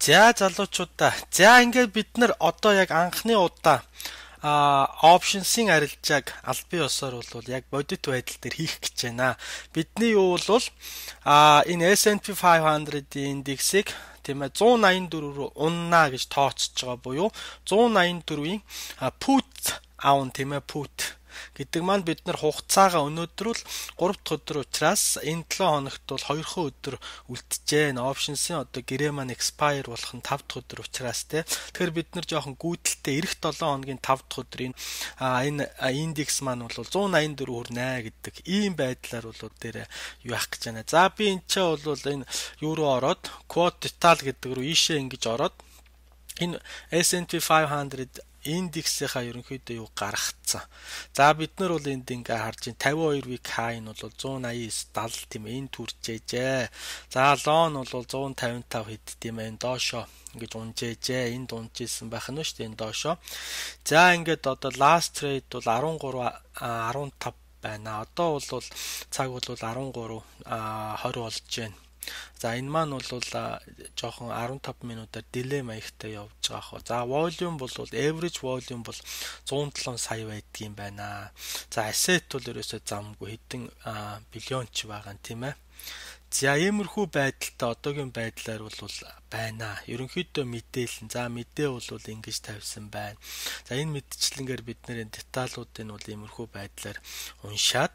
За залуучуудаа. За ингээд бид нар одоо яг анхны удаа options-ийн арилжааг аль бие усаар бол яг бодит байдал дээр хийх гэж байна. Бидний юу бол энэ S&P 500-ийн индексийг тийм ээ 184 рүү уннаа гэж тооцож байгаа буюу 184-ийн put аавн тийм ээ put гэдэг маань бид нар хугацаагаа өнөөдөр л 3 дахь өдөр учраас энэ 7 хоногт бол 2 өдөр үлджээ. Options-ийн одоо гэрээ маань expire болох нь 5 дахь өдөр учраас те. Тэгэхээр бид нар жоохон гүйдэлтэй эх 7 хоногийн 5 дахь өдрийн энэ индекс маань бол 184 хүрнэ гэдэг ийм байдлаар бол дээр юу яах гэж байна. За би энэ ч бол энэ юу руу ороод quote total гэдэг рүү ийшээ ингэж ороод энэ S&P 500 индексийнхаа ерөнхийдөө юу гаргацсан. За бид нар бол энд ингээ харж байна 52 week high нь бол 189.70 тийм ээ энэ түрчээжээ. За low нь бол 155 хэд тийм ээ доошоо ингэж унжээжээ. Энд унжижсэн байх нь шүү дээ энэ доошоо. За ингээд одоо last trade бол 13.15 байна. Одоо бол цаг бол 13.20 болж байна. За энэ маань бол жоохон 15 минутаар delay маягтай явж байгаа хөө. За volume бол average volume бол 107 сая байдгийм байна. За asset бол ерөөсөө замгүй хэдэн биллион ч байгаа юм тийм ээ. За иймэрхүү байдалтай одоогийн байдлаар бол байна. Ерөнхийдөө мэдээлэл. За мэдээ бол ингэж тавьсан байна. За энэ мэдчлэнгээр бид нэр деталуудыг бол иймэрхүү байдлаар уншаад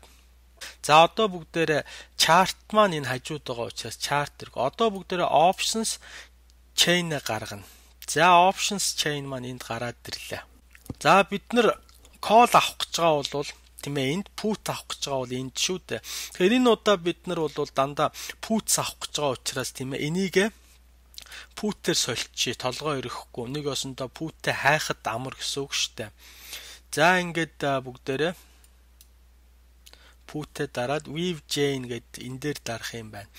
за одоо бүгдээрээ chart маань энэ хажууд байгаа учраас chart зэрэг одоо бүгдээрээ options chain гаргана. За options chain маань энд гараад ирлээ. За бид нар call авах гэж байгаа бол тийм ээ энд put авах гэж байгаа бол энд шүү дээ. Тэгэхээр энэ удаа бид нар бол дандаа puts авах гэж байгаа учраас тийм ээ энийг put-ээр сольчих толгой өрөхгүй. Нэг осондоо put-ээ хайхад амар гэсэн үг шүү дээ. За ингээд бүгдээрээ put-ээ дараад weave chain гэд энэ дээр дарах юм байна.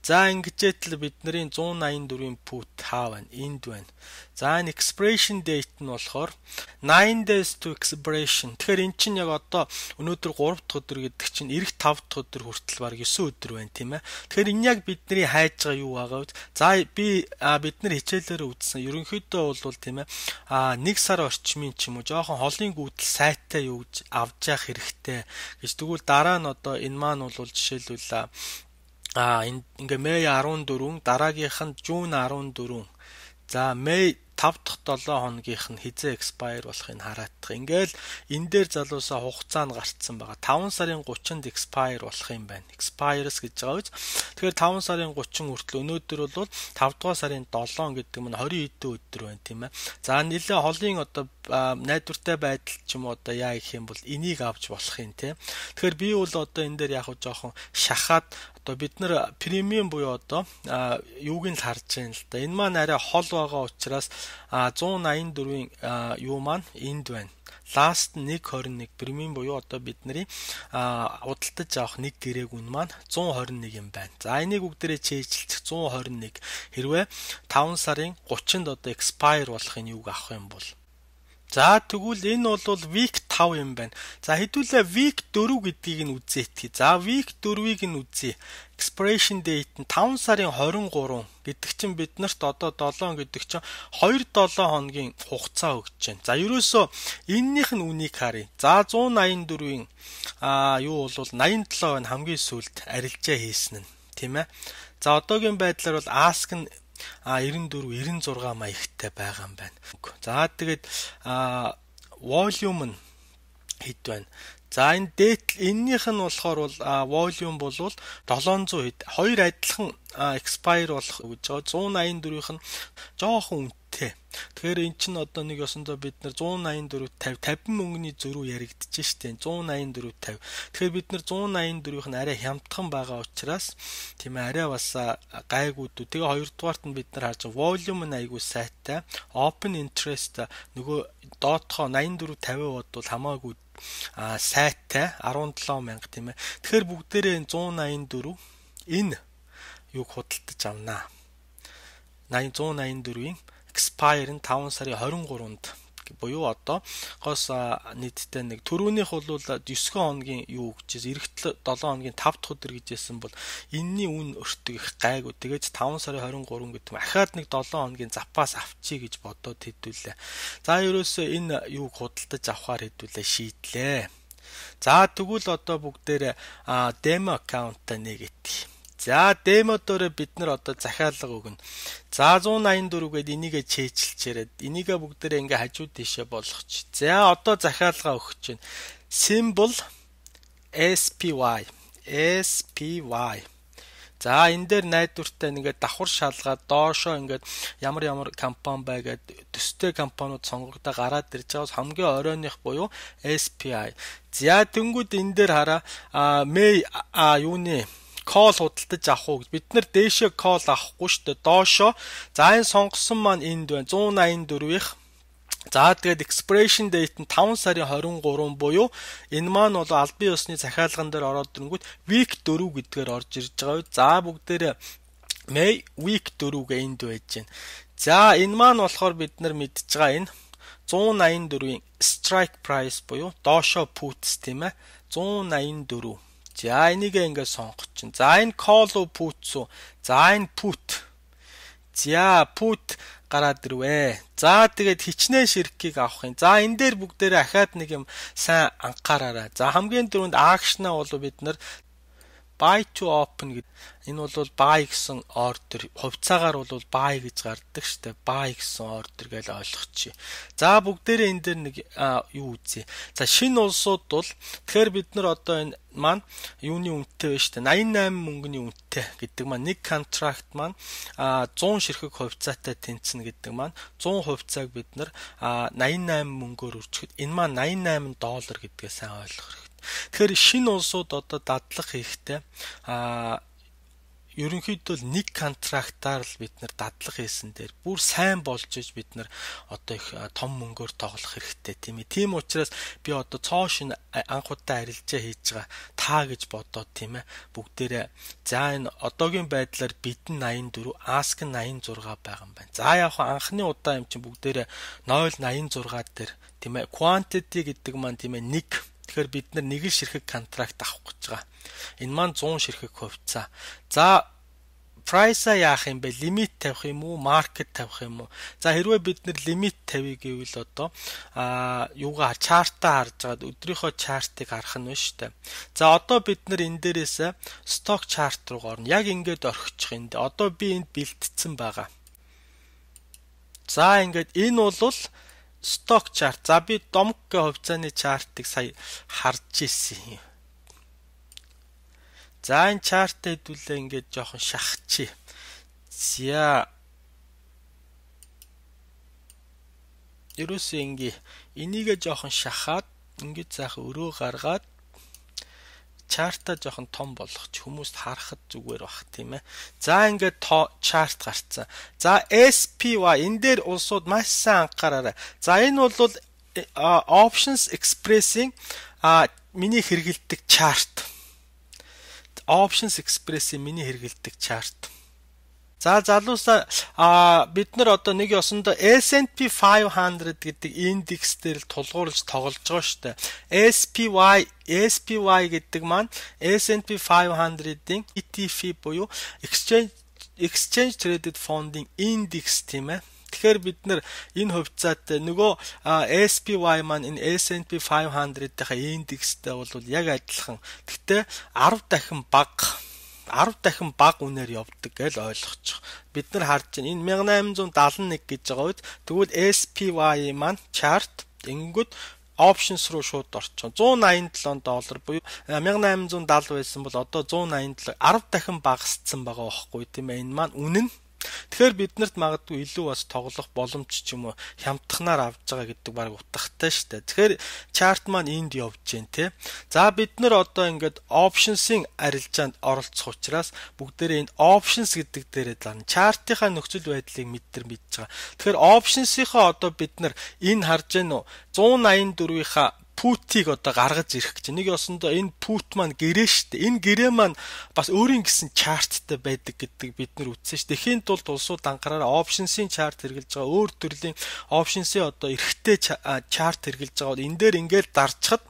За ингэжээтэл бидний 184-ийн put хаа байна? Энд байна. За энэ expiration date нь болохоор 9 days to expiration. Тэгэхээр эн чинь яг одоо өнөөдөр 3 дахь өдөр гэдэг чинь эх 5 дахь өдөр хүртэл баг 9 өдөр байна тийм ээ. Тэгэхээр энэ яг бидний хайж байгаа юу байгаа вэ? За бид нар хичээлээр үзсэн. Ерөнхийдөө бол тийм ээ 1 сар орчмын ч юм уу жоохон холын гүйдэл сайттай юу гэж авч явах хэрэгтэй гэж тэгвэл дараа нь одоо энэ маань бол жишээлбэл ингээ Мэй 14 дараагийнх нь Жун 14 за Мэй 5 дахь 7 хоногийнх нь хизээ expire болохыг хараадах. Ингээл энэ дээр залуусаа хугацаа нь гарцсан байгаа. 5 сарын 30-нд expire болох юм байна. Expires гэж байгаа үз. Тэгэхээр 5 сарын 30 хүртэл өнөөдөр бол 5 дугаар сарын 7 гэдэг нь 20 хэдэн өдөр байна тийм ээ. За нэлээ холын одоо найдвартай байдал ч юм уу одоо яа гэх юм бол энийг авч болох юм тийм. Тэгэхээр би бол одоо энэ дээр яг жоохон шахаад одоо бид нар премиум буюу одоо юуг нь л харж байна л да. Энэ маань арай хол байгаа учраас 184-ийн юу маань энд байна. Last 121 премиум буюу одоо бидний худалдаж авах нэг гэрээг үн маань 121 юм байна. За энийг бүгдээрээ чийжилчих 121 хэрвээ 5 сарын 30-нд одоо expire болохын юуг авах юм бол за тэгвэл энэ бол week 5 юм байна. За хэдүүлээ week 4 гэдгийг нь үзээтгэе. За week 4-ийг нь үзье. Expiration date нь 5 сарын 23 гэдэг чинь бид нарт одоо 7 гэдэг чинь 2-7 хоногийн хугацаа өгч байна. За ерөөсөө эннийх нь үнийг харъя. За 184-ийн юу бол 87 нь хамгийн сүүлд арилжаа хийсэн нь тийм ээ. За одоогийн байдлаар бол ask нь 94 96 маягтай байгаа юм байна. За тэгээд volume нь хэд байна? За энэ date эннийх нь болохоор бол volume бол 700 хэд. Хоёр адилхан expire болох гэж байгаа. 184-ийнх нь жоохон үнэтэй. Тэгэхээр эн чинь одоо нэг ёсондоо бид нар 184 50 мөнгөний зөрүү яригдчихэж штэ 184 50. Тэгэхээр бид нар 184-ийнх нь арай хямдхан байгаа учраас тийм ээ арай бас гайгуудуу. Тэгээ хоёрдугаарт нь бид нар харж volume нь айгүй сайтай. Open interest нөгөө доотхоо 84 50 бод бол хамаагүй сайтай 17,000 тийм ээ. Тэгэхээр бүгдээрээ 184 энэ юг худалдаж авнаа. 184-ийн expire нь 5 сарын 23-нд буюу одоогоос нийтдээ нэг түрүүнийх бол 9 хоногийн юу гэж эх 7 хоногийн 5 дахь өдөр гэжсэн бол энэний үн өртөг их гайгүй. Тэгээд 5 сарын 23 гэдэг нь ахаад нэг 7 хоногийн запас авчий гэж бодоод хэдүүлээ. За ерөөсөө энэ юуг худалдаж авахар хэдүүлээ шийдлээ. За тэгвэл одоо бүгдээрээ демо аккаунтаа нэгэт. За демо дээрээ бид нар одоо захиалга өгнө. За 184 гээд энийгээ чэйжилчээрээд энийгээ бүгдээрээ ингээ хажуу тийшээ болгоч. За одоо захиалга өгч байна. Symbol SPY. За энэ дээр найдвартай ингээд давхар шалгаад доошоо ингээд ямар компани байгаад төстэй компаниуд сонгогдоо гараад ирж байгаас хамгийн оройных буюу SPY. За тэнгууд энэ дээр хараа May юуны call худалдаж авах уу гэж бид нар дээшээ call авахгүй шүү дээ доошоо. За энэ сонгосон маань энд байна 184-ийнх. За тэгээд expiration date нь 5 сарын 23 буюу энэ маань бол албан ёсны захиалган дээр ороод ирэнгүүт week 4 гэдгээр орж ирж байгаа. За бүгдээрээ May week 4-гээ энд байж байна. За энэ маань болохоор бид нар мэдж байгаа энэ 184-ийн strike price буюу доошоо puts тийм ээ 184. За энийг ингээд сонгоч чинь. За энэ call уу put уу? За энэ put. За put гараад ирвэ. За тэгээд хичнээн ширхгийг авах юм. За энэ дээр бүгдээрээ ахаад нэг юм сайн анхаараарай. За хамгийн түрүүнд акшнаа бол бид нар buy to open гэдэг. Энэ бол buy гэсэн ордер. Хувьцаагаар бол buy гэж гардаг штэ. Buy гэсэн ордер гэж ойлгочих. За бүгдээрээ энэ дээр нэг юу үзье. За шинэ улсууд бол тэгэхээр бид нар одоо энэ маань юуны үнэтэй байна штэ. 88 мөнгөний үнэтэй гэдэг маань нэг контракт маань 100 ширхэг хувьцаатай тэнцэнэ гэдэг маань 100 хувьцааг бид нар 88 мөнгөөр үржихэд энэ маань $88 гэдгээ сайн ойлгох хэрэгтэй. Тэгэхээр шинэ улсууд одоо дадлах хийхдээ ерөнхийдөө нэг контрактаар л бид нар дадлах хийсэн дээр бүр сайн болж иж бид нар одоо их том мөнгөөр тоглох хэрэгтэй тийм ээ. Тийм учраас би одоо цоо шин анх удаа арилжаа хийж байгаа та гэж бодоод тийм ээ. Бүгдээрээ за энэ одоогийн байдлаар бидэн 84, ask нь 86 байгаа юм байна. За яг анхны удаа юм чинь бүгдээрээ 086 дээр тийм ээ. Quantity гэдэг маань тийм ээ 1. Тэгэхээр бид нар нэг л ширхэг контракт авах гэж байгаа. Энэ маань 100 ширхэг хувьцаа. За price-а яах юм бэ? Лимит тавих юм уу? Market тавих юм уу? За хэрвээ бид нар лимит тавья гэвэл одоо юугаар чартаа харж байгаад өдрийнхөө чартыг харах нь шүү дээ. За одоо бид нар энэ дээрээс stock chart руу орно. Яг ингээд орхичих юм дээ. Одоо би энд бэлтцсэн байгаа. За ингээд энэ бол stock chart. За би домггийн хувьцааны чартыг сая харж ирсэн юм. За энэ чарт хэдүүлээ ингээд жоохон шахчих. За ерөөсөө ингээ энийгээ жоохон шахаад ингээд заах өрөө гаргаад чартаа жоохон том болгоч хүмүүст харахад зүгээр бах тийм ээ. За ингээд чарт гарцсан. За SPY энэ дээр улсууд маш сайн анхаараарай. За энэ бол options expressing миний хэрэгэлдэг чарт. Options express-ийн миний хэрэгэлдэг чарт. За залуусаа бид нар одоо нэг ёсондоо S&P 500 гэдэг индекс дээр л тулгуурлаж тоглож байгаа шүү дээ. SPY гэдэг маань S&P 500-ийн ETF буюу Exchange Traded Fund-ийн индекс тийм ээ. Тэгэхээр бид нар энэ хувьцаатай нөгөө SPY маань энэ S&P 500-ийнхаа индекстэй бол яг адилхан. Гэхдээ 10 дахин бага үнээр явдаг гэж ойлгочих. Бид нар харж байна. Энэ 1871 гэж байгаа үед тэгвэл SPY маань chart ингэнгүүт options руу шууд орчихно. $187 буюу 1870 байсан бол одоо 187 10 дахин багассан байгаа байхгүй тийм ээ. Энэ маань үнэн. Тэгэхээр биднэрт магадгүй илүү бас тоглох боломж ч юм уу хямдханаар авж байгаа гэдэг баг утгатай шүү дээ. Тэгэхээр чарт маань энд явж гин тий. За бид нар одоо ингээд options-ийн арилжаанд оролцох учраас бүгдээрээ энэ options гэдэг дээрээ зарна. Чартынхаа нөхцөл байдлыг мэдж байгаа. Тэгэхээр options-ийнхаа одоо бид нар энэ харж гэнэ үү 184-ийнхаа put-ийг одоо гаргаж ирэх гэж. Нэг ёсондоо энэ put маань гэрээ штэ. Энэ гэрээ маань бас өөрийн гэсэн чарттай байдаг гэдэг бид нар үзсэн ш. Тэхийн тулд улсууд анхаараа options-ийн чарт хэрэгжилж байгаа. Өөр төрлийн options-ийн одоо эрхтэй чарт хэрэгжилж байгаа бол энэ дээр ингээд дарчхад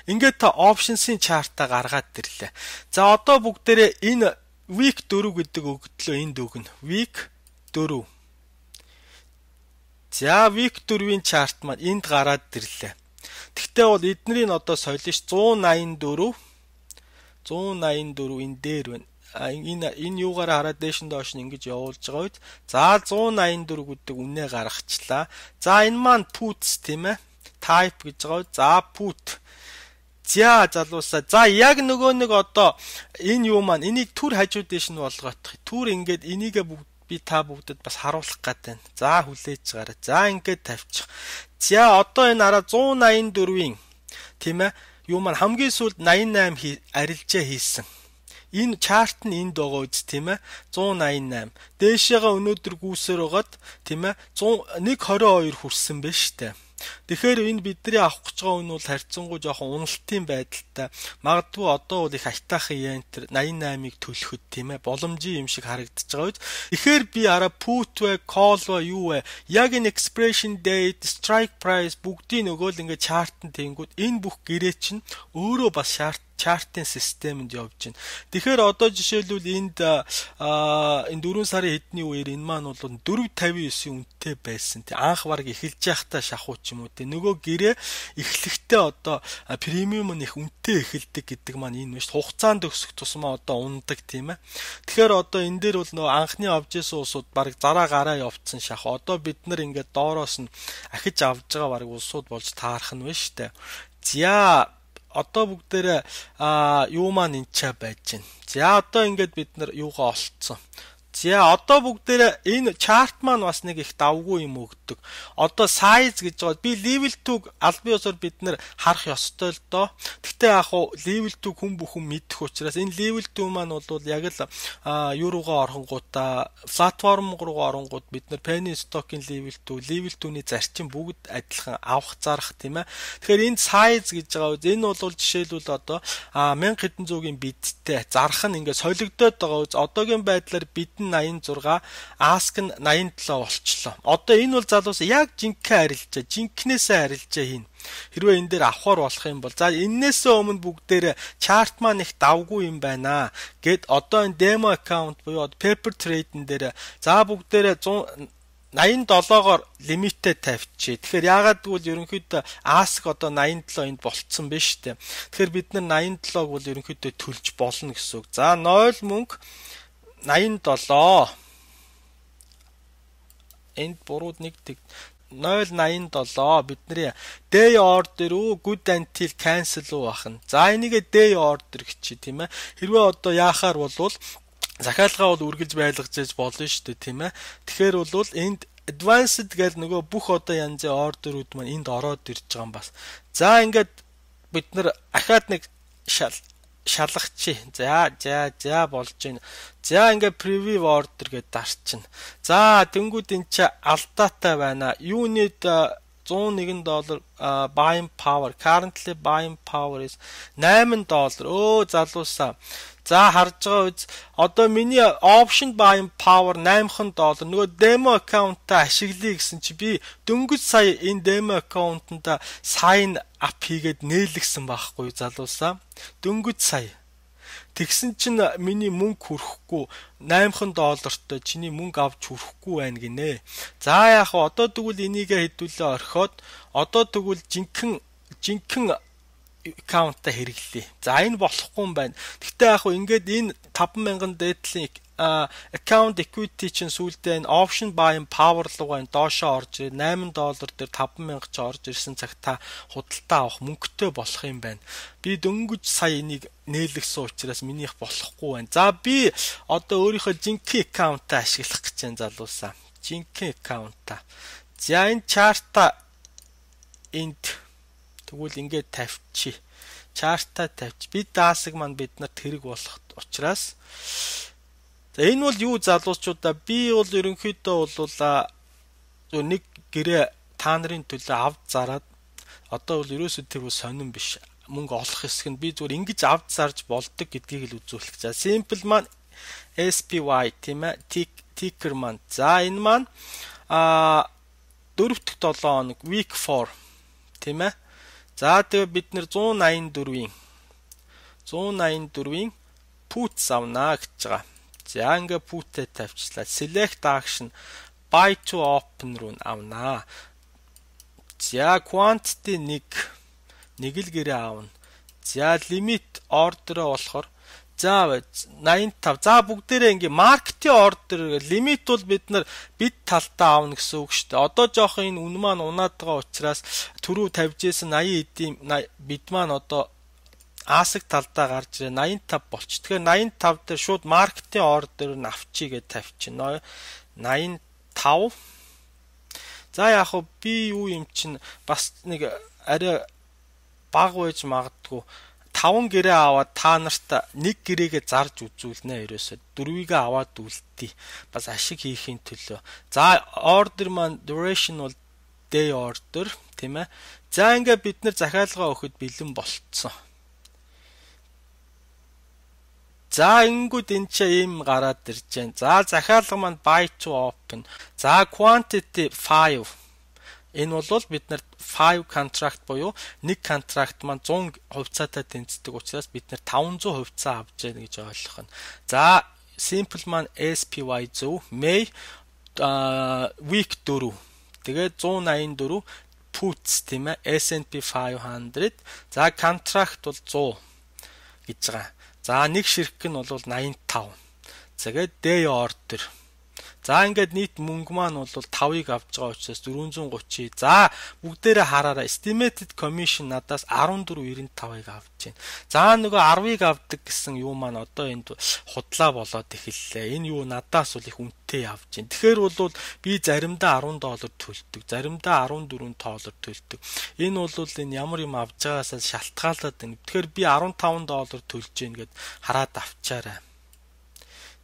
ингээд та options-ийн чартаа гаргаад ирлээ. За одоо бүгдээрээ энэ week 4 гэдэг өгдлөө энд өгнө. Week 4. За week 4-ийн чарт маань энд гараад ирлээ. Тэгтээ бол эднэрийг одоо соёлно ш 184 энэ дээр байна. Энэ юугаар хараад дээш нь доош нь ингэж явуулж байгаа үед за 184 гэдэг үнэ гаргачлаа. За энэ маань puts тийм ээ. Type гэж байгаа. За put. За залуусаа. За яг нөгөө нэг одоо энэ юу маань энийг түр хажуу дээш нь болгоох. Түр ингээд энийгээ би та бүгдэд бас харуулах гэдэг. За хүлээж гараа. За ингээд тавьчих. За одоо энэ араа 184-ийн тийм ээ юу маань хамгийн сүүлд 88 арилжаа хийсэн. Энэ чарт нь энд байгаа үз тийм ээ 188. Дээшээгээ өнөөдөр гүйсээр байгаад тийм ээ 122 хүрсэн байна штэ. Тэгэхээр энэ бидний авах гэж байгаа үн бол харьцангуй жоохон уналтын байдалтай. Магадгүй одоо бол их айтаахан янтер 88-ыг төлөхөд тийм ээ боломжийн юм шиг харагдаж байгаа үед. Тэгэхээр би араа put вэ, call вэ, юу вэ? Яг энэ expiration date, strike price бүгдийг нөгөө л ингээд чартанд тэнгүүд энэ бүх гэрээ чинь өөрөө бас чартын системэнд явж байна. Тэгэхээр одоо жишээлбэл энд энэ 4 сарын хэдний үеэр энэ маань бол 459 үнэтэй байсан. Тэ анх бараг эхэлж байхдаа шахуу ч юм уу. Тэ нөгөө гэрээ эхлэхдээ одоо премиум нь их үнэтэй эхэлдэг гэдэг маань энэ биш. Хугацаанд өсөх тусмаа одоо ундаг тийм ээ. Тэгэхээр одоо энэ дээр бол нөгөө анхны авж исэн улсууд бараг зараа гараа явцсан шах. Одоо бид нар ингээд доороос нь ахиж авж байгаа бараг улсууд болж таарах нь биш үү? За одоо бүгдээрээ юу маань энчаа байж байна. За одоо ингээд бид нар юугаа олцсон. За одоо бүгдээрээ энэ чарт маань бас нэг их давгүй юм өгдөг. Одоо size гэж байгаа. Би level 2-г аль бие усаар бид нар харах ёстой л доо. Гэхдээ яг хуу level 2 хүн бүхэн мэдэх учраас энэ level 2 маань бол яг л юу руугаа оронгуудаа платформ руугаа оронгууд бид нар penny stock-ийн level 2-ний зарчим бүгд адилхан авах зарах тийм ээ. Тэгэхээр энэ size гэж байгаа. Энэ бол жишээлбэл одоо 1000 хэдэн зуугийн бидтэй зарах нь ингээд солигдоод байгаа. Одоогийн байдлаар бид 86 ask нь 87 болчлоо. Одоо энэ бол залуус яг жинкнээсээ арилжаа хийн. Хэрвээ энэ дээр авахар болох юм бол за эннээсээ өмнө бүгдээр чарт маань их давгүй юм байна. Гэт одоо энэ demo account буюу paper trade-н дээр за бүгдээр 87-оор лимиттэй тавьчих. Тэгэхээр яагаад гэвэл ерөнхийдөө ask одоо 87 энд болцсон байна шүү дээ. Тэгэхээр бид нар 87-г бол ерөнхийдөө төлж болно гэсэн үг. За 0 мөнгө 87 энд бурууд нэг 087 бидний day order уу good until cancel уу бахна. За энийгээ day order гэж тийм ээ. Хэрвээ одоо яахаар болвол захиалгаа бол үргэлж байлгаж байж болно шүү дээ тийм ээ. Тэгэхээр бол энд advanced гэдэг нөгөө бүх одоо янзын ордерүүд маань энд ороод ирж байгаа юм бас. За ингээд бид нар ахаад нэг шалгачи. За болж байна. За ингээ preview order гэдээ дарчихна. За тэнгууд энэ чи алдаатай байна. Unit $101 buying power. Currently buying power is $8. Өө залуусаа. За харж байгаа үз. Одоо миний option buying power $8. Нөгөө demo account-та ашиглая гэсэн чи би дөнгөж сая энэ demo account-нд sign up хийгээд нээлгсэн байхгүй залуусаа. Дөнгөж сая. Тэгсэн чинь миний мөнгө хүрэхгүй $8 чиний мөнгө авч хүрэхгүй байна гинэ. За яг одоо тэгвэл энийгээ хэдүүлээ орхиод одоо тэгвэл жинхэнэ аккаунтаа хэрэглэе. За энэ болохгүй юм байна. Гэхдээ яг ингээд энэ 5000 дээдлийн account equity чинь сүүлдээ энэ option buying power руугаа доошоо орж $8 дээр 5000 ч орж ирсэн цаг та худалдаа авах мөнгөтэй болох юм байна. Би дөнгөж сая энийг нээлгсэн учраас минийх болохгүй байна. За би одоо өөрийнхөө жинхэнэ аккаунтаа ашиглах гэж байна залуусаа. Жинхэнэ аккаунтаа. За энэ чарта энд тэгвэл ингээд тавьчих. Чарта тавьчих. Би даасаг маань бид нарт хэрэг болох учраас за энэ бол юу залуучуудаа би бол ерөнхийдөө бол нэг гэрээ та нарын төлөө авд зараад Одоо бол ерөөсөө тэр бол сонирн биш. Мөнгө олох хэсэг нь би зүгээр ингэж авд зарж болдог гэдгийг л үзүүлэх. За simple маань SPY тийм ээ. Ticker маань. За энэ маань 4 дахь 7 хоног week 4 тийм ээ. За тэгээ бид нэр 184-ийн puts авнаа гэж байгаа. За ингээ put-ээ тавьчлаа. Select action buy to open руу авнаа. За quantity 1 л гэрээ аавна. За limit order болохоор за 85. За бүгдээрээ ингээ market-ийн order limit бол бид талдаа аавна гэсэн үг шүү дээ. Одоо жоох энэ үн маань унаад байгаа учраас түрүү тавьж исэн 80 эдийн бид маань одоо асаг талдаа гарч ирээ 85 болч. Тэгэхээр 85 дээр шууд market-ийн order нь авчий гэж тавьчихна. 85. За яг хөө би юу юм чинь бас нэг арай баг байж магадгүй 5 гэрээ аваад та нарт 1 гэрээгээ зарж үзүүлнэ ерөөсөө 4-ийг аваад үлдээ. Бас ашиг хийхийн төлөө. За order маань duration бол day order тийм ээ. За ингээ бид нэр захиалгаа өгөхөд бэлэн болцсон. За ингүүд энэ ч ийм гараад ирж байна. За захиалга маань buy to open. За quantity 5. Энэ бол бид нар 5 contract буюу нэг контракт маань 100 хувьцаатай тэнцдэг учраас бид нар 500 хувьцаа авч яана гэж ойлгох нь. За simple маань SPY зөв. May week 4. Тэгээд 184 puts тийм ээ. S&P 500. За contract бол 100 гэж байгаа. За нэг ширхэг нь бол 85. Тэгээд day order. За ингээд нийт мөнгө маань бол 5-ыг авч байгаа учраас 430. За бүгдээрээ хараараа estimated commission надаас 14.95-ыг авч байна. За нөгөө 10-ыг авдаг гэсэн юу маань одоо энд худлаа болоод эхэллээ. Энэ юу надаас бол их үнэтэй авч байна. Тэгэхээр бол би заримдаа $10 төлдөг, заримдаа $14 төлдөг. Энэ бол энэ ямар юм авч байгаасаа шалтгаалаад байна. Тэгэхээр би $15 төлж гин гэд хараад авчаарай.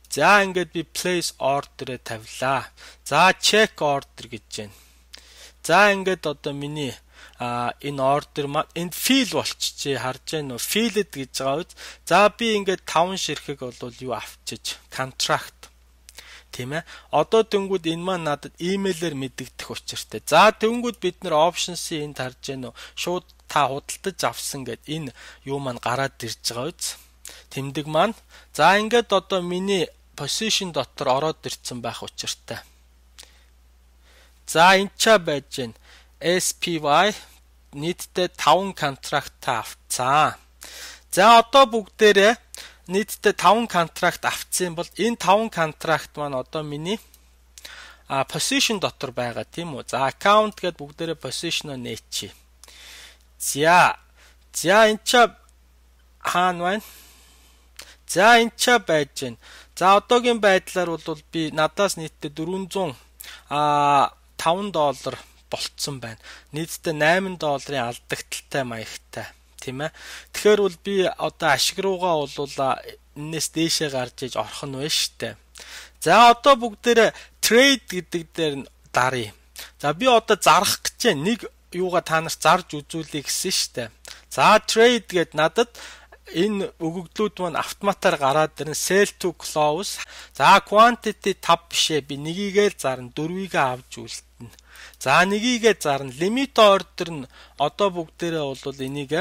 За ингээд би place order-ыг тавилаа. За check order гэж байна. За ингээд одоо миний энэ order маань энэ fill болчихжээ харж байна уу? Filled гэж байгаа үз. За би ингээд 5 ширхэг бол юу авчиж contract тийм ээ. Одоо тэнгүүд энэ маань надад email-ээр мэдэгдэх учиртай. За тэнгүүд бид нэр options-ийг энд харж байна уу? Шууд та худалдаж авсан гэд энэ юу маань гараад ирж байгаа үз. Тэмдэг маань. За ингээд одоо миний position дотор ороод ирсэн байх учиртай. За энэ ч байж гэн SPY нийтдээ 5 контракт авцсан. За одоо бүгдээрээ нийтдээ 5 контракт авцсан бол энэ 5 контракт маань одоо миний position дотор байгаа тийм үү. За account гэд бүгдээрээ position-о нээчи. За энэ ч хаана байна? За энэ ч байж гэн. За одоогийн байдлаар бол би надаас нийтдээ $405 болцсон байна. Нийтдээ $8 алдагдaltaй маягтай, тийм ээ. Тэгэхээр бол би одоо ашиг руугаа бол энэс дээшээ гарч иж орох нь байна штэ. За одоо бүгдээрээ trade гэдэг дээр даръя. За би одоо зарах гэж нэг юугаа та нарт зарж үзүүлье гэсэн штэ. За trade гэд надад энэ өгөгдлүүд маань автоматар гараад ирэн sell to close. За quantity 5 бишээ би нэгийгээ зарна 4-ийг авч үлдэнэ. За нэгийгээ зарна limit order нь одоо бүгдээрээ бол энийг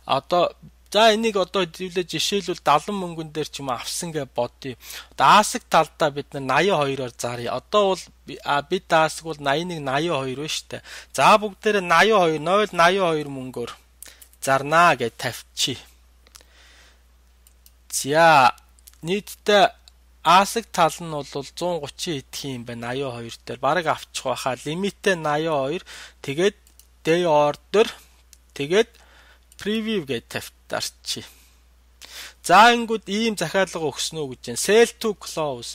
одоо за энийг одоо хэвлээ жишээлбэл 70 мөнгөн дээр ч юм авсан гэж бодъё. Даасаг талдаа бид 82-оор заръя. Одоо бол бид даасаг бол 81 82 байна шүү дээ. За бүгдээрээ 82 мөнгөөр зарнаа гэж тавьчих. За нийтдээ асаг тал нь бол 130 идэх юм байна 82 дээр бараг авчих байхаа лимитээ 82 тэгээд day order тэгээд preview гэж тавьтаарчи. За ингүүд ийм захиалга өгснө гэж байна. Sell to close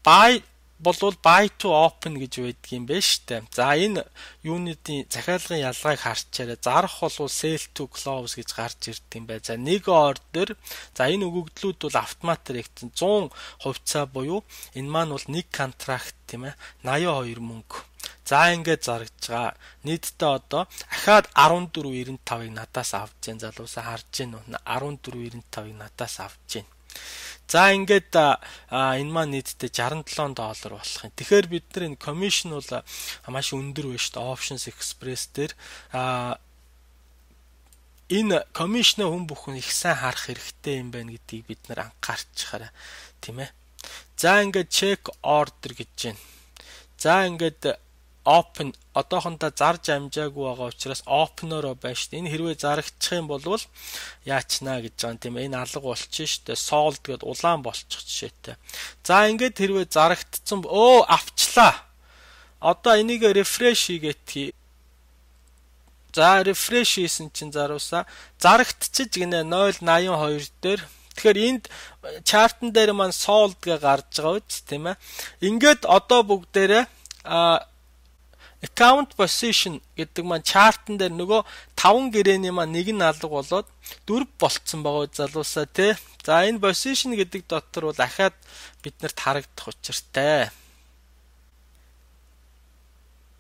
buy болвол buy to open гэж байдаг юм байна штэ. За энэ юунитийн захиалгын ялгааг харчаарай. Зарах болвол sell to close гэж гарч ирдэг юм байна. За нэг ордер. За энэ өгөгдлүүд бол автоматар ягдсан 100 хувьцаа буюу энэ маань бол нэг контракт тийм ээ 82 мөнгө. За ингээд зарагдж байгаа. Нийтдээ одоо ахаад 14.95-ыг надаас авч जैन залуусаа харж гин үү? 14.95-ыг надаас авч гин. За ингээд энэ маань нийтдээ $67 болох юм. Тэгэхээр бид нар энэ commission бол маш өндөр байна шүү дээ. Options Express дээр энэ commission-ыг хүн бүхэн их сайн харах хэрэгтэй юм байна гэдгийг бид нар анхаарчихаарай, тийм ээ. За ингээд check order гэж байна. За ингээд open одоохондоо зарж амжаагүй байгаа учраас open-ороо байна шүү дээ. Энэ хэрвээ зарагдчих юм бол яачнаа гэж байгаа юм тийм ээ. Энэ алга болчих шүү дээ. Sold гэд улаан болчих жишээтэй. За ингээд хэрвээ зарагдсан авчлаа. Одоо энийг refresh хийгээд за refresh хийсэн чинь заруусаа зарагдчих гинэ 0.82 дээр. Тэгэхээр энд чартн дээр маань sold гэ гарч байгаа үст тийм ээ. Ингээд одоо бүгдээрээ account position гэдэг маань чартн дээр нөгөө 5 гэрээний маань нэг нь алга болоод 4 болцсон байгаа залуусаа тий. За энэ position гэдэг дотор бол ахаад биднэрт харагдах учиртай.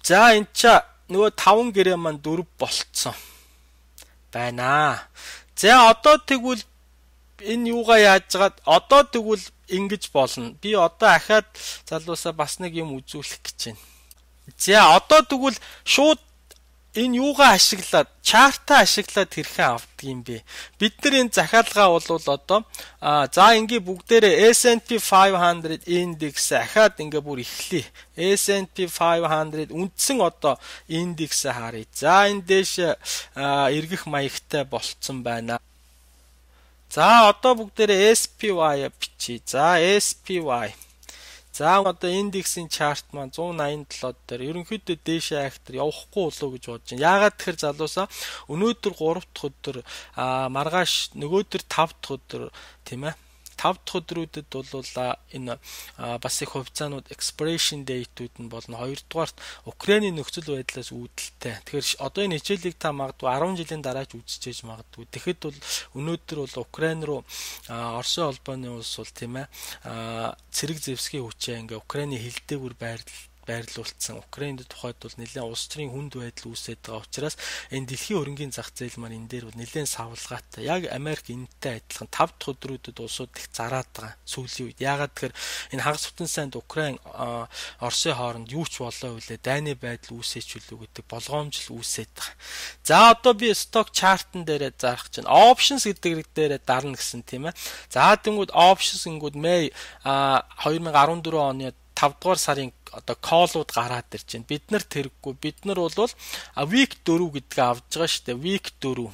За энэ ча нөгөө 5 гэрээ маань 4 болцсон байна. За одоо тэгвэл энэ юугаа яажгаад одоо тэгвэл ингэж болно. Би одоо ахаад залуусаа бас нэг юм үзүүлэх гэж байна. За одоо тэгвэл шууд энэ юугаа ашиглаад чартаа ашиглаад хэрхэн авдаг юм бэ? Бид нар энэ захиалгаа бол одоо за ингээ бүгдээрээ S&P 500 индекс ахаад ингээ бүр эхлэе. S&P 500 үндсэн одоо индексээ харъя. За энэ дэш эргэх маягтай болцсон байна. За одоо бүгдээрээ SPY бичиж. За SPY. За одоо индексийн чарт маань 187 дээр ерөнхийдөө дээшээ актер явахгүй болов гэж бодож байна. Яагаад тэгэхээр залуусаа өнөөдөр 3 дахь өдөр маргааш нөгөөдөр 5 дахь өдөр тийм ээ 5 дахь өдрүүдэд бол энэ бас их хувьцаанууд expiration date-үүд нь болно. Хоёрдугаарт Украиний нөхцөл байдлаас үүдэлтэй. Тэгэхээр одоо энэ хичээлийг та магадгүй 10 жилийн дараач үзчихэж магадгүй. Тэгэхэд бол өнөөдөр бол Украин руу Оросын холбооны улс бол тийм ээ цэрэг зэвсгийн хүчээ ингээ Украины хилдээгүүр байрлуулсан. Украинд тухайд бол нэлээд улс төрийн хүнд байдал үүсээд байгаа учраас энэ дэлхийн хөрөнгийн зах зээл маань энэ дээр бол нэлээд савлгаатай. Яг Америк энэтэй адилхан 5 дахь өдрүүдэд улсууд их зараад байгаа сүүлийн үед. Яагаад тэгэхээр энэ хагас бүтэн сайд Украин Оросын хооронд юу ч болоо үлээ дайны байдал үүсэж үлээ гэдэг болгоомжл үүсээд байгаа. За одоо би stock chart-н дээрээ зарах чинь options гэдэг дээрээ дарна гэсэн тийм ээ. За тэнгууд options гингүүд May 2014 оны 5 дугаар сарын одоо call-ууд гараад ирж байна. Бид нар тэрэггүй. Бид нар бол week 4 гэдгээ авж байгаа шүү дээ. Week 4.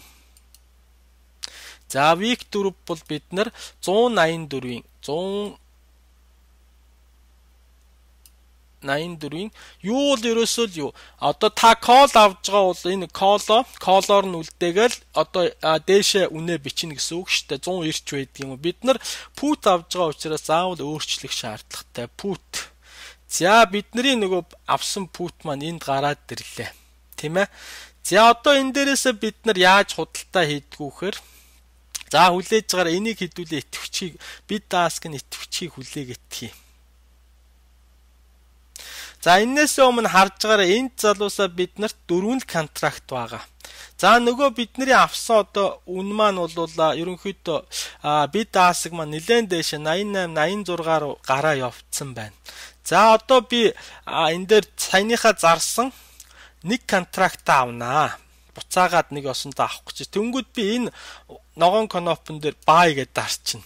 За week 4 бол бид нар 184-ийн юу л ерөөсөө л юу одоо та call авж байгаа бол энэ call-оор нь үлдээгээл одоо дээшээ үнэ бичнэ гэсэн үг шүү дээ 100 ирч байдаг юм. Бид нар put авж байгаа учраас заавал өөрчлөх шаардлагатай put. За бидний нөгөө авсан put маань энд гараад ирлээ. Тийм ээ. За одоо энэ дээрээсээ бид нар яаж худалдаа хийдгүүхээр за хүлээж байгаагаар энийг хэдүүлээ итгэвчийг бид ask нь итгэвчийг хүлээгээтгэе. За энээс өмнө харж байгаараа энд залуусаа биднэрт 4 контракт байгаа. За нөгөө бидний авсан одоо үн маань бол ерөнхийдөө бид ask маань нэлээд дэше 88 86 руу гараа явцсан байна. За одоо би энэ дээр саяныхаа зарсан нэг контракт авнаа. Буцаагаад нэг осондоо авах гэж. Тэнгүүд би энэ ногоон кнопн дээр buy гэдээ дарчихна.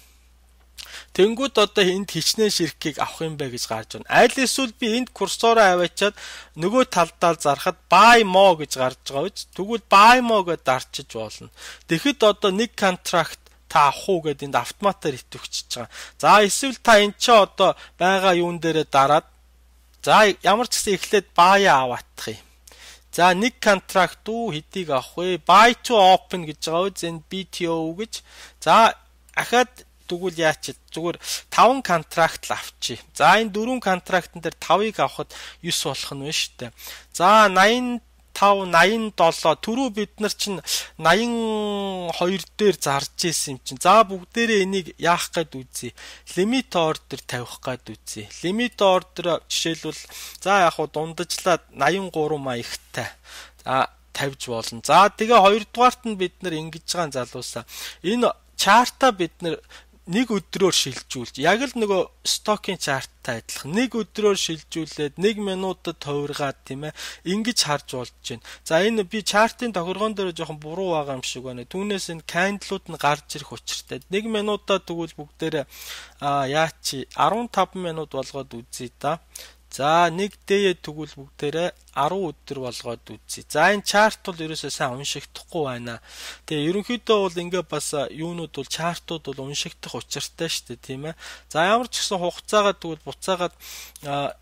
Тэнгүүд одоо энд хичнээн ширхгийг авах юм бэ гэж гарч байна. Аль эсвэл би энд курсороо аваачаад нөгөө талдаа зарахад buy more гэж гарч байгаа биз. Тэгвэл buy more гэдээ дарчиж болно. Тэгэхэд одоо нэг контракт та авах уу гэдээ энд автоматар итгэвчж байгаа. За эсвэл та эн чи одоо байгаа юун дээрээ дараад за ямар ч гэсэн эхлээд buy аваадах юм. За нэг контракт хэдийг авах вэ? Buy to open гэж байгаа үз энэ BTO гэж. За ахаад тэгвэл яач зүгээр 5 контракт л авчи. За энэ 4 контрактн дээр 5-ыг авахд 9 болох нь байна шүү дээ. За 85 87 түрүү бид нар чинь 82 дээр зарж исэн юм чинь. За бүгдээрээ энийг яах гээд үзье. Limit order тавих гээд үзье. Limit order жишээлбэл за яг хуу дундажлаад 83 маягтай. За тавьж болно. За тэгээ хоёрдугаарт нь бид нар ингэж байгаа залуусаа. Энэ чарта бид нар нэг өдрөөр шилжүүлж яг л нөгөө стокийн чарттай адилхан нэг өдрөөр шилжүүлээд 1 минутад хувиргаад тийм ээ ингэж харж болж байна. За энэ би чартын тохиргоон дээр жоохон буруу байгаа юм шиг байна. Түүнээс энэ кандилууд нь гарч ирэх учиртай. 1 минутаа тэгвэл бүгдээрээ яачи 15 минут болгоод үзье да. За нэг дээе тэгвэл бүгдээрээ 10 өдөр болгоод үзье. За энэ чарт бол ерөөсөө сайн уншигдахгүй байна. Тэгээ ерөнхийдөө бол ингээ бас юунууд бол чартууд бол уншигдах учиртай шүү дээ, тийм ээ. За ямар ч гэсэн хугацаагаа тэгвэл буцаагаад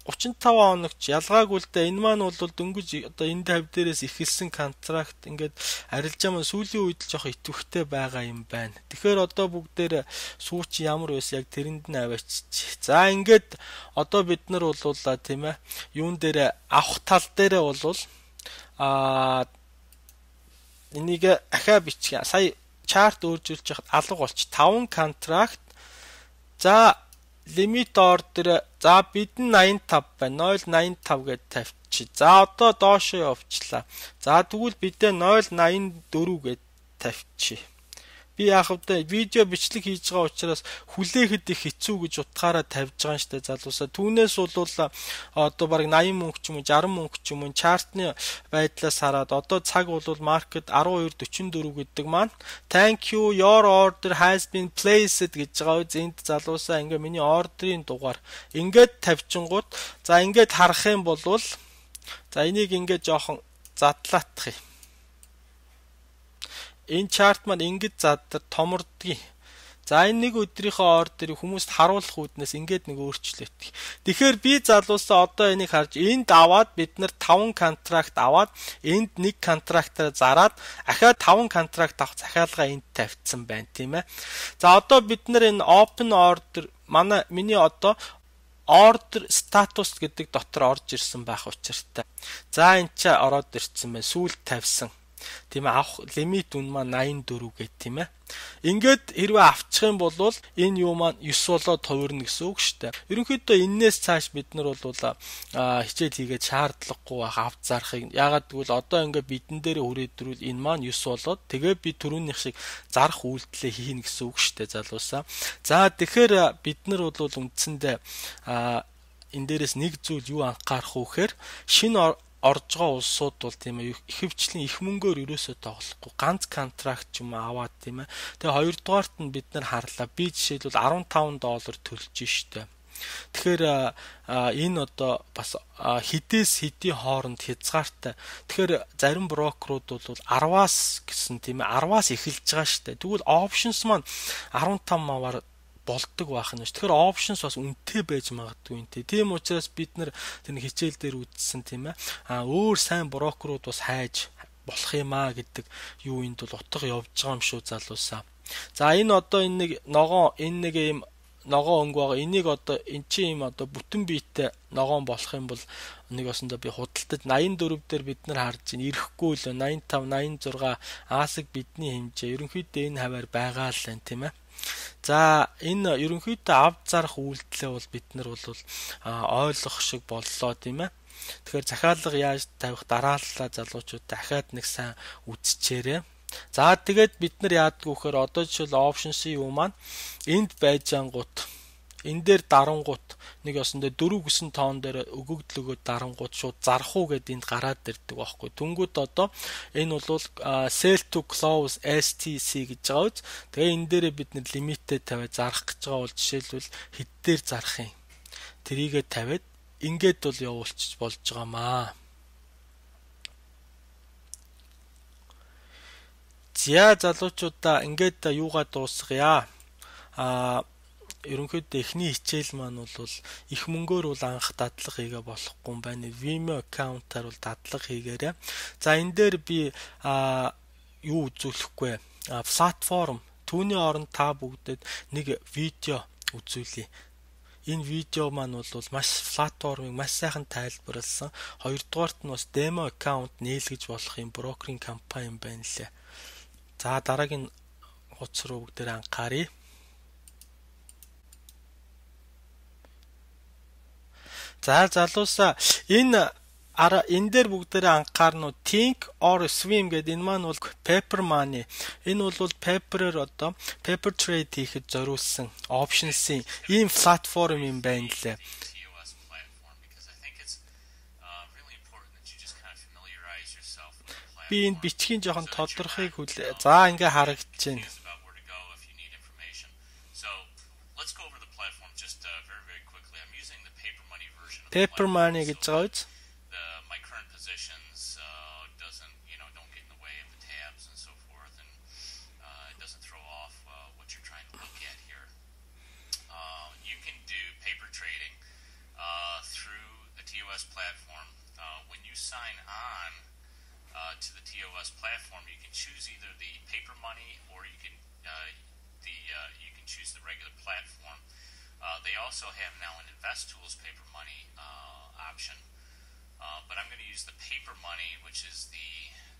35 хоногч ялгаагүй л дээ. Энэ маань бол дөнгөж одоо энэ 50 дээрээс ихэлсэн контракт ингээд арилжаа маань сүүлийн үед л жоох итвэхтэй байгаа юм байна. Тэгэхээр одоо бүгдээр сууч ямар байсан яг тэрэнд нь аваачиж. За ингээд одоо бид нар бол тийм ээ юун дээр авах тал дээрээ бол энийг ахаа бичих. Сая чарт өөрчилж яхад алга болч 5 контракт. За limit order за бид нь 85 байна. 0.85 гэж тавьчих. За одоо доошоо явуулчлаа. За тэгвэл бидээ 0.84 гэж тавьчих. Би яг хэвдэ видео бичлэг хийж байгаа учраас хүлээхэд их хэцүү гэж утгаараа тавьж байгаа юм штэ залуусаа. Түүнээс бол одоо баг 80 мөнгө ч юм уу 60 мөнгө ч юм уу чартны байдлаас хараад одоо цаг бол маркет 12.44 гэдэг маань thank you your order has been placed гэж байгаа. Энд залуусаа ингээ миний ордерын дугаар ингээд тавьчингууд за ингээд харах юм бол за энийг ингээд жоохон задлаатах юм. Энэ чарт маань ингэж заддаг томордгийг. За энэ нэг өдрийнхөө ордерыг хүмүүст харуулах үүднээс ингэж нэг өөрчлөлт. Тэгэхээр би залуусаа одоо энийг харж энд аваад бид нар 5 контракт аваад энд нэг контрактаар зараад ахаад 5 контракт авах захиалга энд тавьсан байна, тийм ээ. За одоо бид нар энэ open order миний одоо order status гэдэг дотор орж ирсэн байх учиртай. За энэ ч ороод ирсэн байна. Сүүлд тавьсан. Тийм авах лимит үн маань 84 гэт тийм ээ. Ингээд хэрвээ авчих юм бол энэ юу маань 9 болоод хувирна гэсэн үг шүү дээ. Ерөнхийдөө энээс цааш бид нар бол хичээл хийгээд шаардлагагүй байх авч зарахыг. Ягаад гэвэл одоо ингээд бидэн дээр хүрээдрүүл энэ маань 9 болоод тэгээ би түрүүнийх шиг зарах үйлдэлээ хийнэ гэсэн үг шүү дээ залуусаа. За тэгэхээр бид нар бол үндсэндээ энэ дээрээс нэг зүйл юу анхаарах вэ гэхээр шинэ орж байгаа улсууд бол тийм ээ ихэвчлэн их мөнгөөр ерөөсөө тоглохгүй ганц контракт ч юм аваад тийм ээ. Тэгээ хоёрдугаарт нь бид нар харлаа. Би жишээлбэл $15 төлж штэ. Тэгэхээр энэ одоо бас хідээс хэдийн хооронд хязгаартай. Тэгэхээр зарим брокерууд бол 10-аас гэсэн тийм ээ 10-аас эхэлж байгаа штэ. Тэгвэл options маань 15 маваар болдог байх нь. Тэгэхээр options бас үнэтэй байж магадгүй юм те. Тийм учраас бид нар тэр хичээл дээр үзсэн тийм ээ. Өөр сайн брокерууд бас хайж болох юм гэдэг юу энд бол утга явж байгаа юм шүү залуусаа. За энэ одоо энэ нэг юм ногоон өнгө байгаа. Энийг одоо эн чинь юм одоо бүтэн биетэй ногоон болох юм бол нэг осондоо би худалдаж 84 дээр бид нар харж байна. Ирэхгүй л 85 86 аасыг бидний хэмжээ. Ерөнхийдөө энэ хаваар байгаа л байна тийм ээ. За энэ ерөнхийдөө авд зарах үйлдэлээ бол бид нар бол ойлгох шиг боллоо тийм ээ. Тэгэхээр захиалга яаж тавих дарааллаа залуучууд дахиад нэг сайн үзчихээрэй. За тэгээд бид нар яадаг вөхөр одоо жишээл options-ийн юу маань энд байж ангууд энэ дээр дарангууд нэг осондоо 4 гэсэн тоон дээр өгөгдлөгөө дарангууд шууд зарах уу гэд энд гараад ирдэг байхгүй. Түнгүүд одоо энэ бол sell to close STC гэж байгаа үз. Тэгээ энэ дээрээ бид нэр лимиттэй тавиад зарах гэж байгаа бол жишээлбэл хэд дээр зарах юм. Тэрийгэ тавиад ингээд бол явуулчих болж байгаамаа. За залуучуудаа ингээд юугаа дуусгая. Ерөнхийдөө эхний хичээл маань бол их мөнгөөр бол анх дадлага хийгээ болохгүй юм байна. Vimeo аккаунтаар бол дадлага хийгээрэй. За энэ дээр би юу үзүүлэхгүй. Платформ түүний оронд та бүгдээд нэг видео үзүүлье. энэ видео маань бол маш платформыг маш сайхан тайлбарласан. Хоёрдугаарт нь бас демо аккаунт нийлгэж болох юм брокеринг компани юм байна лээ. За дараагийн хуудас руу бүгдээр анхаарай. За залуусаа энэ дээр бүгдээрээ анхаарна уу? Think or swim гэдэг энэ маань бол paper money. Энэ бол paper-ээр одоо paper trade хийхэд зориулсан options-ийн ийм платформ юм байна лээ. Би энэ бичгийн жоохон тодорхойг хүлээ. За ингээ харагдаж байна. Paper money гэж байгаа үз? Platform. When you sign on to the TOS platform, you can choose either the paper money or you can choose the regular platform. They also have now an InvestTools paper money option, but I'm going to use the paper money, which is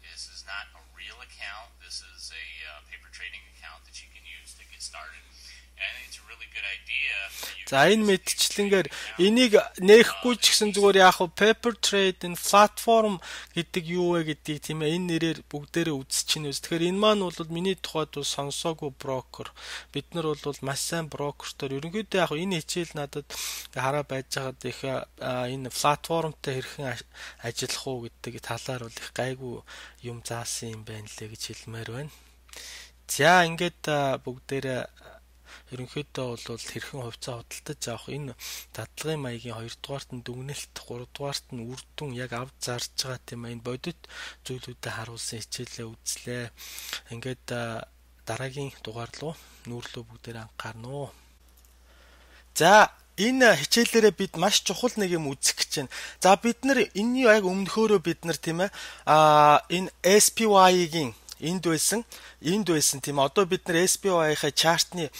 this is not a real account. This is a paper trading account that you can use to get started. За энэ мэдчлэнгээр энийг нээхгүй ч гэсэн зүгээр яг paper trade энэ платформ гэдэг юу вэ гэдгийг тийм ээ энэ нэрээр бүгдээрээ үзчихнэ. Тэгэхээр энэ маань бол миний тухайд сонсоогүй брокер. Бид нар бол маш сайн брокертор. Ерөнхийдөө яг энэ хичээл надад хараа байж байгаад их энэ платформтой хэрхэн ажиллах уу гэдэг талаар бол их гайгүй юм заасан юм байна лээ гэж хэлмээр байна. За ингээд бүгдээрээ ерөнхийдөө бол хэрхэн хувьцаа худалдаж авах энэ дадлагын маягийн 2 дугаарт нь дүгнэлт 3 дугаарт нь үр дүн яг авч зарж байгаа тийм энэ бодит зүйлүүдэд харуулсан хичээлээ үзлээ. Ингээд дараагийн дугаар руу нүүрлөө бүгдээр анхаарна уу. За энэ хичээлээрээ бид маш чухал нэг юм үзэх гэж байна. За бид нар энэний яг өмнөхөөрөө бид нар тийм ээ энэ SPY-гийн энд байсан тийм одоо бид нар SPY-ийнхаа чартны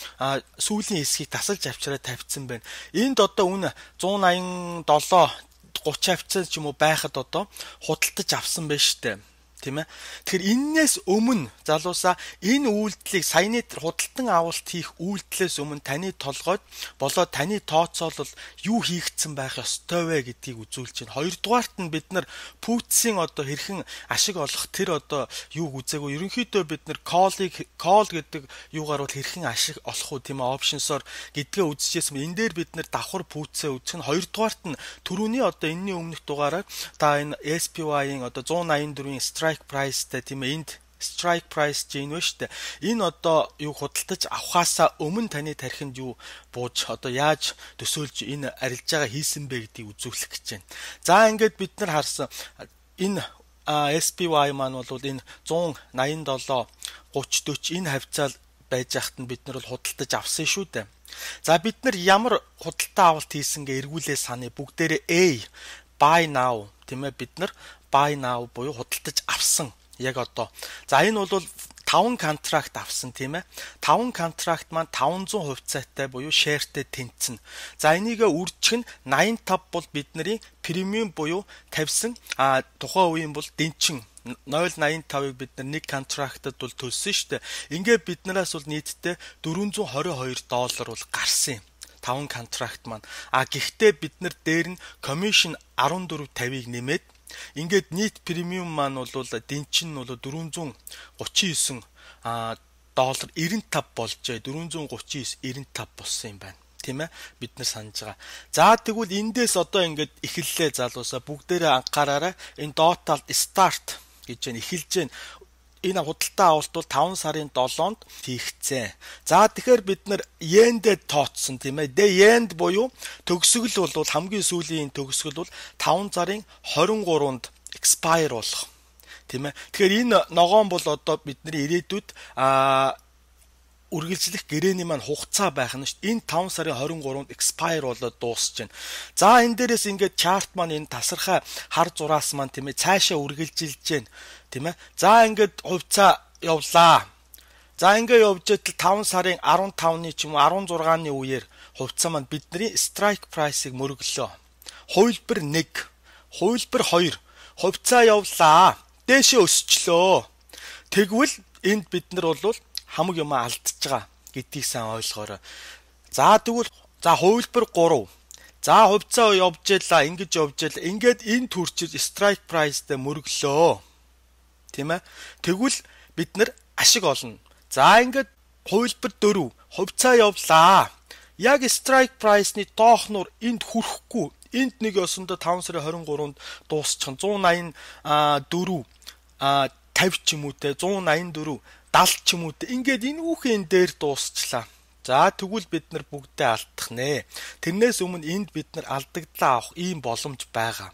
сүүлийн хэсгийг тасалж авчираа тавьсан байна. Энд одоо үнэ 187 30 хавцаа ч юм уу байхад одоо худалдаж авсан байна штэ. Тийм ээ. Тэгэхээр энээс өмнө залуусаа энэ үйлдэлийг саяны худалдан авалт хийх үйлдэлээс өмнө таны толгойд болоод таны тооцоолол юу хийгдсэн байх ёстой вэ гэдгийг үзүүлж байна. Хоёрдугаарт нь бид нар путсийн одоо хэрхэн ашиг олох тэр одоо юуг үзээгүй. Ерөнхийдөө бид нар call гэдэг юугаар бол хэрхэн ашиг олох уу тийм ээ options-оор гэдгээ үзчихсэн. Энэ дээр бид нар давхар путсээ үзэх нь. Хоёрдугаарт нь түрүүний одоо энэний өмнөх дугаараар та энэ SPY-ийн одоо 184-ийн strike price-тэй тийм ээ энд strike price чинь вэ штэ. Энэ одоо юу худалдаж авахаасаа өмнө таны тархинд юу бууж одоо яаж төсөөлж энэ арилжаага хийсэн бэ гэдгийг үзүүлэх гэж байна. За ингээд бид нар харсан энэ SPY маань бол энэ 187 30 40 энэ хавцаа байж байхад нь бид нар бол худалдаж авсан шүү дээ. За бид нар ямар худалдаа авалт хийсэн гэ эргүүлээ саны бүгдээрээ A buy now тийм ээ бид нар buy now буюу худалдаж авсан яг одоо. За энэ бол 5 контракт авсан тийм ээ. 5 контракт маань 500 хувьцаатай буюу шеэртэй тэнцэн. За энийгээ үржих нь 85 бол бидний премиум буюу тавьсан тухайн үеийн бол дэнчин 0.85-ыг бид нар нэг контрактад бол төлсөн шүү дээ. Ингээд биднээс бол нийтдээ $422 бол гарсан юм. 5 контракт маань. Гэхдээ бид нар дээр нь commission 14.50-ыг нэмээд ингээд нийт премиум маань бол дэнчин нь бол $439 $95 болжээ. 439.95 болсон юм байна. Тийм ээ бид нар санаж байгаа. За тэгвэл эндээс одоо ингээд эхэллээ залуусаа бүгдээрээ анхаараарай. Энэ total start гэж байна эхэлж байна. Энэ худалдаа авалт бол 5 сарын 7-нд хийгдсэн. За тэгэхээр бид нар йендээ тооцсон тийм ээ. Йенд буюу төгсгөл бол хамгийн сүүлийн төгсгөл бол 5 сарын 23-нд expire болох. Тийм ээ. Тэгэхээр энэ ногоон бол одоо бидний ирээдүйд үргэлжлэх гэрээний маань хугацаа байх нь шүү дээ. Энэ 5 сарын 23-нд expire болоод дуусч байна. За энэ дээрээс ингээд chart маань энэ тасархай хар зураас маань тийм ээ цаашаа үргэлжилж байна. Тийм ээ. За ингээд хувьцаа явлаа. За ингээд явж идэл 5 сарын 15-ны ч юм уу 16-ны үеэр хувьцаа маань бидний strike price-ыг мөрөглөө. Хувилбар 1, хувилбар 2 хувьцаа явлаа. Дээшээ өсчлөө. Тэгвэл энд бид нар бол хамаг юм алдчихж байгаа гэдгийг сайн ойлгоорой. За тэгвэл хувилбар 3. За хувьцаа явж ялаа, ингэж явж ялаа. Ингээд энэ төрчид strike price-тэй мөрөглөө. Тийм ээ. Тэгвэл бид нар ашиг олно. За ингээд хувилбар 4. Хувьцаа явлаа. Яг strike price-ны доохноор энд хүрэхгүй. Энд нэг ёсондоо 5 сарын 23-нд дуусчих нь 184 50 ч юм уу те 184 70 ч юм уу те ингээд энэ үхэн дээр дуусчлаа. За тэгвэл бид нар бүгдээ алдах нэ. Тэрнээс өмнө энд бид нар алдагдлаа авах ийм боломж байгаа.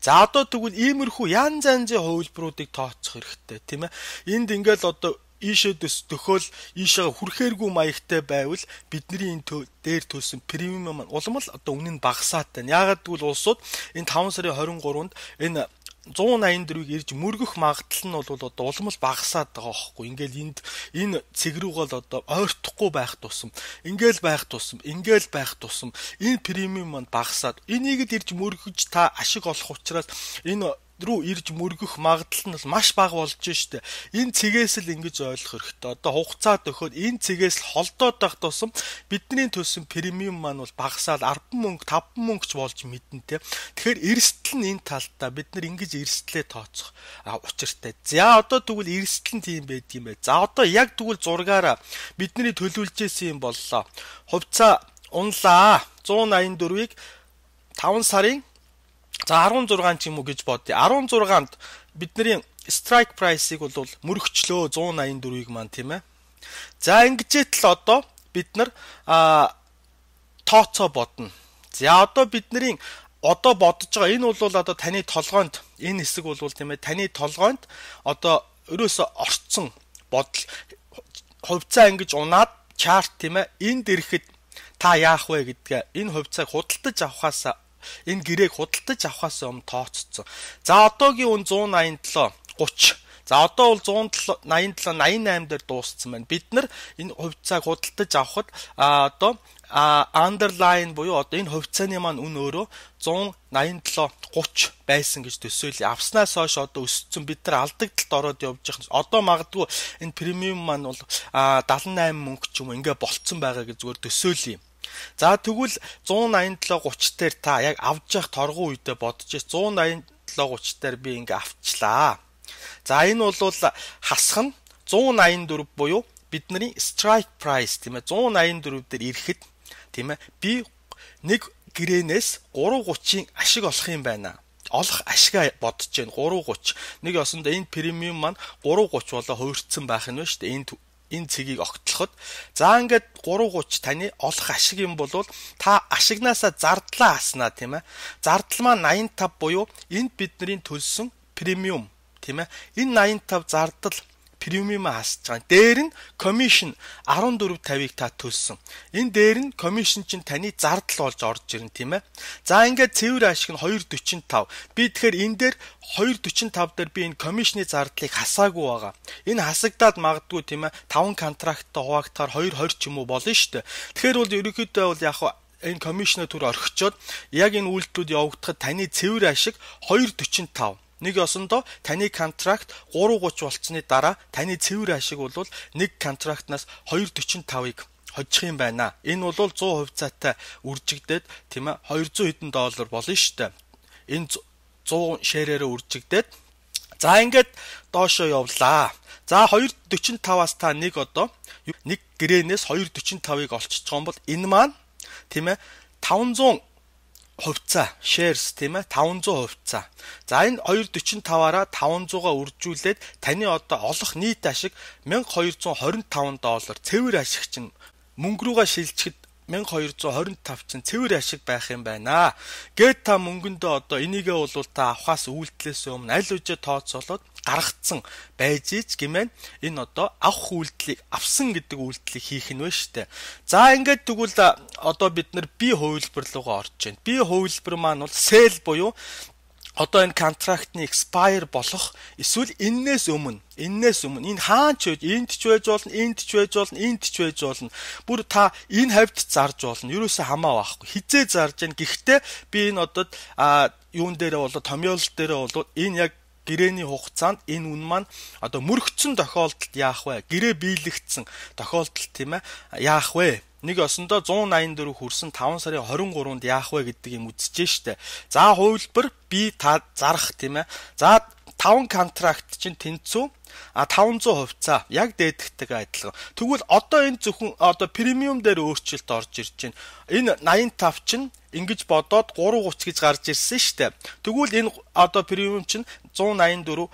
За одоо тэгвэл иймэрхүү янз янзын хувилбаруудыг тооцох хэрэгтэй тийм ээ. Энд ингээд одоо ийшээ төхөөл ийшээ хүрхээргүй маягтай байвал бидний энэ дээр төлсөн премиум маань улам л одоо үнэ нь багасаад байна. Яагаад гэвэл улсууд энэ 5 сарын 23-нд энэ 184-ийг ирж мөргөх магадлал нь бол одоо улам л багасаад байгаа байхгүй. Ингээл энэ цэг рүүгээ л одоо ойртохгүй байх тусам, ингээл байх тусам энэ премиум маань багасаад энийг л ирж мөргөж та ашиг олох учраас энэ рүү ирж мөргөх магадлал нь маш бага болж штэ. Энэ цэгээс л ингэж ойлгох хэрэгтэй. Одоо хугацаа төхөөд энэ цэгээс л холдоод байх тусам бидний төлсөн премиум маань бол багасаад 10 мөнгө 5 мөнгөч болж мэднэ те. Тэгэхээр эрсдэл нь энэ талдаа бид нар ингэж эрсдлээ тооцох учиртай. За одоо тэгвэл эрсдэл нь тийм байдаг юм бэ. За одоо яг тэгвэл зургаараа бидний төлөвлөж исэн юм боллоо. Хувьцаа унлаа. 184-ийг 5 сарын за 16 ч юм уу гэж бодъё. 16-нд бидний strike price-ыг бол мөрөгчлөө 184-ийг маань тийм ээ. За ингэжээт л одоо бид нар тооцоо бодно. За одоо бидний одоо бодож байгаа энэ бол одоо таны толгойд энэ хэсэг бол тийм ээ таны толгойд одоо ерөөсө орцсон бодол хувьцаа ингэж унаад чарт тийм ээ энд ирэхэд та яах вэ гэдгээ энэ хувьцааг худалдаж авахаас энэ гэрээг худалдаж авахаас өмнө тооцсон. За одоогийн үн 187 30. За одоо бол 187 88 дээр дууссан байна. Бид нар энэ хувьцааг худалдаж авахд одоо underline буюу одоо энэ хувьцааны маань үн өөрөө 187 30 байсан гэж төсөөлье. Авснаас хойш одоо өссөн бид нар алдагдлалд ороод явж байгаа. Одоо магадгүй энэ премиум маань бол 78 мөнгө ч юм уу ингээ болцсон байгаа гэж зүгээр төсөөлье. За тэгвэл 187 30 дээр та яг авж явах торгуу үедээ бодож 187 30 дээр би ингээ авчлаа. За энэ бол хасах нь 184 буюу бидний strike price тийм ээ 184 дээр ирэхэд тийм ээ би нэг гэрээнээс 330-ийн ашиг олох юм байна. Олох ашигаа бодож байна 330. Нэг ёсондоо энэ премиум маань 330 болоо хувирцсан байх нь шүү дээ. Энэ цэгийг огтлоход за ингээд 330 таны олох ашиг юм бол та ашигнаасаа зардлаа хаснаа тийм ээ. Зардал маань 85 буюу энд бидний төлсөн премиум тийм ээ. Энэ 85 зардал премиумаа хасж байгаа. Дээр нь commission 14.50-ыг та төлсөн. Энэ дээр нь commission чинь таны зардал болж орж ирнэ тийм ээ. За ингээд цэвэр ашиг нь 2.45. Би тэгэхээр энэ дээр 2.45 дээр би энэ commission-ы зардлыг хасаагүй байгаа. Энэ хасагдаад магадгүй тийм ээ 5 контракттай хуваагдахаар 2.20 ч юм уу болно шүү дээ. Тэгэхээр бол ерөнхийдөө бол яг энэ commission-ы төр орхичоод яг энэ үйлдэлүүд явагдахад таны цэвэр ашиг 2.45. Нэг ёсондоо таны контракт 330 болцсны дараа таны цэвэр ашиг бол нэг контрактнаас 2.45-ыг хожих юм байна. Энэ бол 100 хувьцаатай үржигдээд тийм ээ 200 хэдэн доллар болно шүү дээ. Энэ 100 ширээрээ үржигдээд за ингээд доошоо явлаа. За 2.45-аас та нэг одоо нэг гэрээнээс 2.45-ыг олчиж байгаа бол энэ маань тийм ээ 500 хувьцаа shares тийм ээ 500 хувьцаа. За энэ 2.45-аараа 500-аа үржүүлээд таны одоо олох нийт ашиг $1225 цэвэр ашиг чинь мөнгө рүүгээ шилжихэд 1225 чинь цэвэр ашиг байх юм байна. Гээд та мөнгөндөө одоо энийгээ бол та авахаас үйлдэлээс өмнө аль үжээ тооцоолоод гаргацсан байж ийж гэмээр энэ одоо авах үйлдэлийг авсан гэдэг үйлдэлийг хийх нь вэ штэ. За ингээд тэгвэл одоо бид нар бие хувилбар руугаа орж байна. Бие хувилбар маань бол sell буюу одоо энэ контрактны expire болох эсвэл энээс өмнө энэ хаач байж энд ч байж болно, энд ч байж болно, энд ч байж болно. Бүр та энэ хавьд зарж болно. Юуроос хамаа байхгүй. Хизээ зарж гэн. Гэхдээ би энэ одоо юун дээрээ болоо томьёолол дээрээ болоо энэ яг гэрээний хугацаанд энэ үн маань одоо мөрөгцсөн тохиолдолд яах вэ? Гэрээ биелэгдсэн тохиолдолд тийм ээ яах вэ? Нэг осондоо 184 хүрсэн 5 сарын 23-нд яах вэ гэдэг юм үзэж штэ. За хувилбар би та зарах тийм ээ. За 5 контракт чинь тэнцүү 500 хувьцаа яг дээдхтэйг адилхан. Тэгвэл одоо энэ зөвхөн одоо премиум дээр өөрчлөлт орж ирж байна. Энэ 85 чинь ингэж бодоод 330 гэж гарч ирсэн штэ. Тэгвэл энэ одоо премиум чинь 184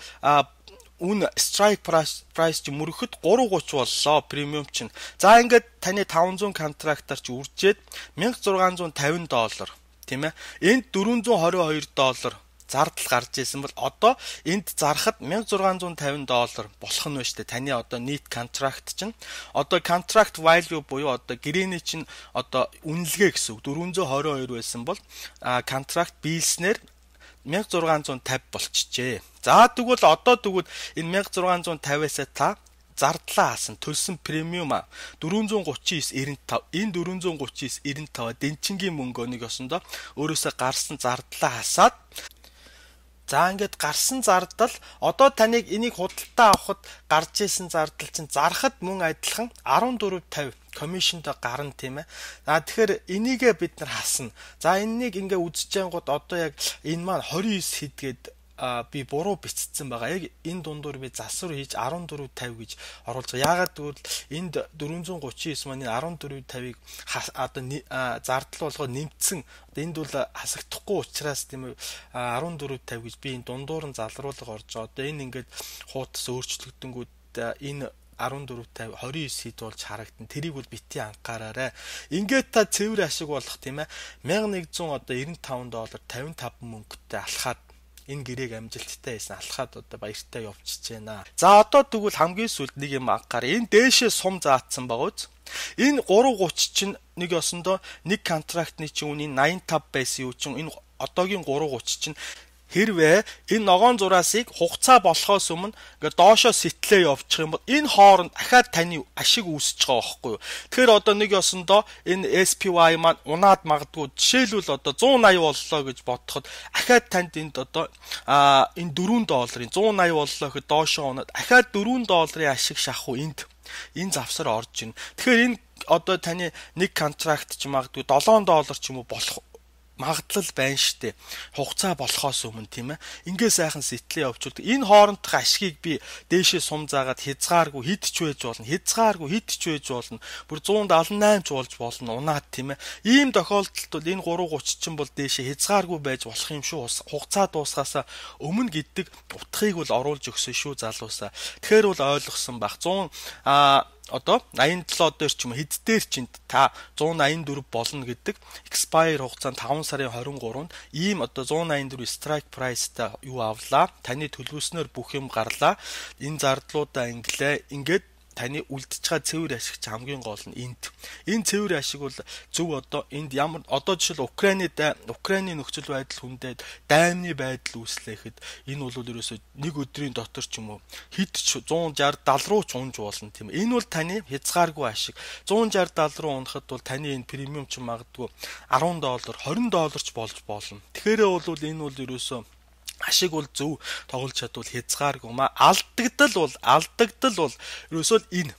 үн strike price чи мөрөхөд 330 боллоо премиум чинь. За ингээд таны 500 контрактаар чи үржээд $1650 тийм ээ. Энд $422 зардал гарч ирсэн бол одоо энд зарахад $1650 болох нь байна шүү дээ. Таны одоо нийт контракт чинь одоо contract value буюу одоо гэрээний чинь одоо үнэлгээ гэсэн үг 422 байсан бол контракт биелснээр 1650 болчихжээ. За тэгвэл одоо энэ 1650-аас та зардлаа хаасан төлсөн премиум 439.95 энэ 439.95 дэнчингийн мөнгөнийг осондоо өөрөөсөө гарсан зардлаа хасаад за ингээд гарсан зардал одоо таныг энийг худалдаа авахд гарч исэн зардал чинь зарахад мөн адилхан 14.50 комиссионтой гарна тийм ээ. За тэгэхээр энийгээ бид нар хасна. За энэнийг ингээ үзэж ангууд одоо яг энэ маань 29 хэд би буруу бичсэн байгаа. Яг энэ дундуур би засвар хийж 14.50 гэж оруулж байгаа. Яагаад гэвэл энд 439 маань 14.50-ыг одоо зардал болгоо нэмсэн. Энд бол хасагдахгүй учраас тийм ээ 14.50 гэж би энэ дундуур нь залруулга орж байгаа. Одоо энэ ингээд хуутас өөрчлөгдөнгүүд энэ 14.50 29 хэд болж харагдана. Тэрийг бол бити анхаараарай. Ингээд та цэвэр ашиг болох тийм ээ $1195 55 мөнгөтэй алхаад энэ гэрээг амжилттай хийсэн алхаад одоо баяртай явчихж байна. За одоо тэгвэл хамгийн сүүлд нэг юм анхаараа. Энэ дээшээ сум заатсан байгаа үз. Энэ 330 чинь нэг осондоо нэг контрактны чинь үнийн 85 байсан юу чинь энэ одоогийн 330 чинь хэрвээ энэ ногоон зураасыг хугацаа болохоос өмнө ингээд доошоо сэтлээ явуучих юм бол энэ хооронд дахиад таны ашиг үүсэж байгаа байхгүй юу. Тэгэхээр одоо нэг ёсондоо энэ SPY маань унаад магадгүй жишээлбэл одоо 180 боллоо гэж бодоход дахиад танд энд одоо энэ $4 180 боллоо гэхэд доошоо унаад дахиад $4 ашиг шахах уу энд энэ завсар орж ийн. Тэгэхээр энэ одоо таны нэг контракт ч магадгүй $7 ч юм уу болох магадлал байна штэ. Хугацаа болохоос өмнө тийм ээ. Ингээ сайхан сэтлээ явуулдаг. Энэ хоорондох ашгийг би дээшээ сум заагаад хязгааргүй хэд ч байж болно. Бүр 178 ч болж болно. Унаад тийм ээ. Ийм тохиолдолд бол энэ 330 ч бол дээшээ хязгааргүй байж болох юм шүү. Хугацаа дуусгаасаа өмнө гэдэг утгыг бол оруулж өгсөн шүү залуусаа. Тэгэхээр бол ойлгосон баг. 100 одоо 87 дээр ч юм хэд дээр ч та 184 болно гэдэг expire хугацаанд 5 сарын 23-нд ийм одоо 184 strike price-тай юу авлаа. Таны төлөвлөснөөр бүх юм гарлаа. Энэ зардлуудаа ингээд таны үлдчихэж байгаа цэвэр ашиг хамгийн гол нь энд. Энэ цэвэр ашиг бол зөв одоо энд ямар одоо жишээл Украины нөхцөл байдал хүндээд даймны байдал үүслэхэд энэ бол ерөөсөө нэг өдрийн дотор ч юм уу хэд ч 160-70 руу ч унж болно тийм. Энэ бол таны хязгааргүй ашиг. 160-70 руу унахад бол таны энэ премиум ч магадгүй $10, $20 ч болж болно. Тэгэхээр бол энэ бол ерөөсөө ашиг бол зөв тоглож чадвал хязгааргүй алдагдал бол ерөөсөө энэ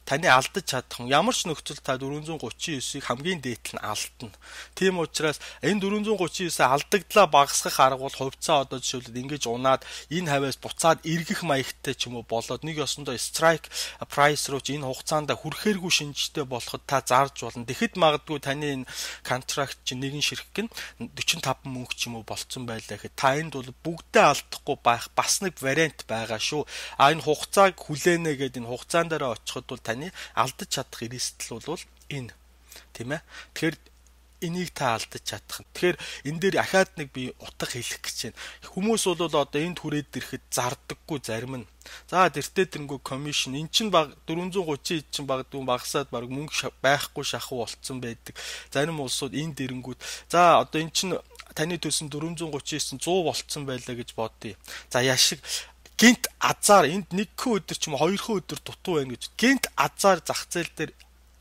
таны алдаж чадах юм. Ямар ч нөхцөл та 439-ийг хамгийн дээдл нь алдна. Тийм учраас энэ 439-ийг алдагдлаа багасгах арга бол хувьцаа одоо жишээлбэл ингэж унаад энэ хавьяас буцаад эргэх маягтай ч юм уу болоод нэг ёсондоо strike price руу энэ хугацаанд хүрэхээргүй шинжтэй болоход та зарж болно. Тэгэхэд магадгүй таны энэ контракт чинь нэгэн ширхэг нь 45 мөнгө ч юм уу болцсон байлаа гэхэд та энд бол бүгдээ алдахгүй байх бас нэг вариант байгаа шүү. Энэ хугацааг хүлээнэ гэдэг энэ хугацаан дээр очиход бол алдаж чадах эрсдэл бол энэ тийм ээ. Тэгэхээр энийг та алдаж чадах. Тэгэхээр энэ дээр ахаад нэг би утга хэлэх гэж байна. Хүмүүс бол одоо энд хүрээд ирэхэд зардаггүй зарим нь. За тэртээ тэрнгүү комисшн эн чинь баг 430 чинь багасаад баг мөнгө байхгүй шахуу болцсон байдаг. Зарим улсууд энэ дэрэнгүүд за одоо эн чинь таны төлсөн 439 100 болцсон байлаа гэж бодъё. За яшиг гинт азар энд нэгхэн өдөр ч юм уу хоёрхан өдөр дутуу байна гэж гинт азар зах зээл дээр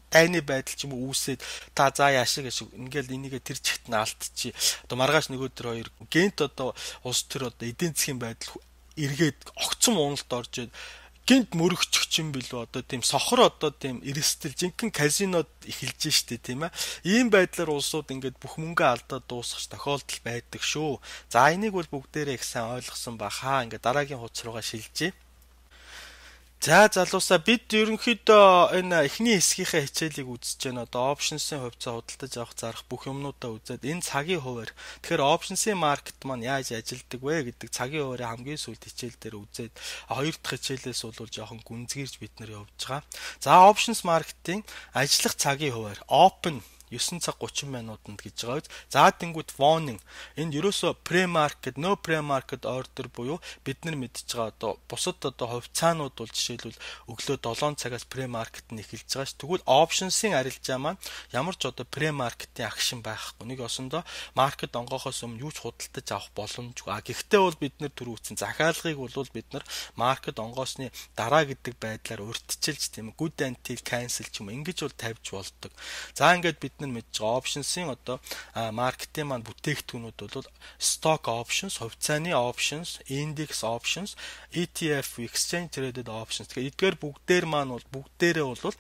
тайны байдал ч юм уу үүсээд та за яшиг ингээл энийгээ тэр чигт нь алдчихъя. Одоо маргааш нэг өдөр хоёр гинт одоо улс төр одоо эдийн засгийн байдал эргээд огцом уналт орж гинт мөрөгчих юм билүү одоо тийм сохор одоо тийм эрсдэл жинхэнэ казинод эхэлж штэ тийм ээ. Ийм байдлаар улсууд ингээд бүх мөнгөө алдаад дуусгах тохиолдол байдаг шүү. За энийг бол бүгдээрээ их сайн ойлгосон бахаа. Ингээд дараагийн хуудас руугаа шилжье. За залуусаа бид ерөнхийдөө энэ эхний хэсгийнхээ хичээлийг үзэж байна. Одоо options-ийн хувьцаа худалдаж авах зарах бүх юмнуудаа үзээд энэ цагийн хуваар тэгэхээр options-ийн маркет маань яаж ажилладаг вэ гэдэг цагийн хуваараа хамгийн сүүлд хичээл дээр үзээд хоёр дахь хичээлээс бол жоохон гүнзгийрж бид нар явж байгаа. За options маркетинг ажиллах цагийн хуваар open 9 цаг 30 минутанд гэж байгаа. За тэнгуут warning энд ерөөсө pre-market, no pre-market order буюу бид нар мэдж байгаа одоо бусад одоо хувьцаанууд бол жишээлбэл өглөө 7 цагаас pre-market нь эхэлж байгаа ш. Тэгвэл options-ийн арилжаа маань ямар ч одоо pre-market-ийн акшн байхгүй. Нэг осондоо market онгохоос өмнө юу ч худалдаж авах боломжгүй. Гэхдээ бол бид нар түрүүцэн захиалгыг бол бид нар market онгоосны дараа гэдэг байдлаар урьдчилж тийм good until cancel ч юм ингэж бол тавьж болдог. За ингээд бид мэдж байгаа options-ийн одоо маркетинг маань бүтээгдэхүүнүүд бол stock options, хувьцааны options, index options, ETF, exchange traded options. Тэгэхээр эдгээр бүгдээр маань бол бүгдээрээ бол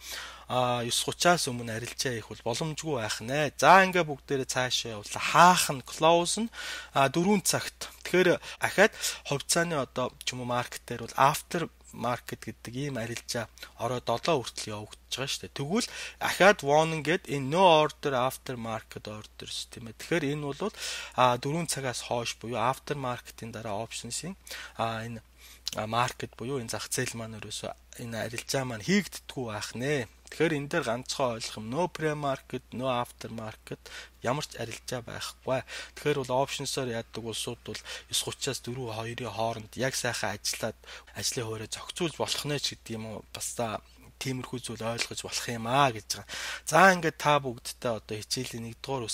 9:30-аас өмнө арилжаа хийх бол боломжгүй байх нэ. За ингээ бүгдээрээ цаашаа явуулаа. Хаах нь close нь 4 цагт. Тэгэхээр ахаад хувьцааны одоо ч юм уу маркет дээр бол after market гэдэг ийм арилжаа ороо 7 хүртэл явагдаж байгаа шүү дээ. Тэгвэл ахаад warning гэдэг энэ no order after market orders тийм ээ. Тэгэхээр энэ бол 4 цагаас хойш буюу after market-ийн дараа options-ийн энэ market буюу энэ зах зээл маань ерөөсөө энэ арилжаа маань хийгддэггүй байх нэ. Тэгэхээр энэ дээр ганцхан ойлгох юм no pre-market, no after market ямар ч арилжаа байхгүй. Тэгэхээр бол options-оор яадаг улсууд бол 9:30-аас 4:02-ийн хооронд яг сайхан ажиллаад ажлын хуурай зохицуулж болох нэ ч гэдэг юм уу. Бас тиймэрхүү зүйл ойлгож болох юм гэж байгаа. За ингээд та бүгдтэй одоо хичээлийн 1-р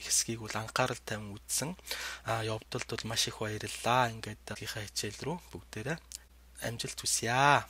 хэсгийг бол анхаарал тавин үзсэн. Явдалд бол маш их баярлалаа. Ингээд хичээл рүү бүгдээрээ амжилт хүсье.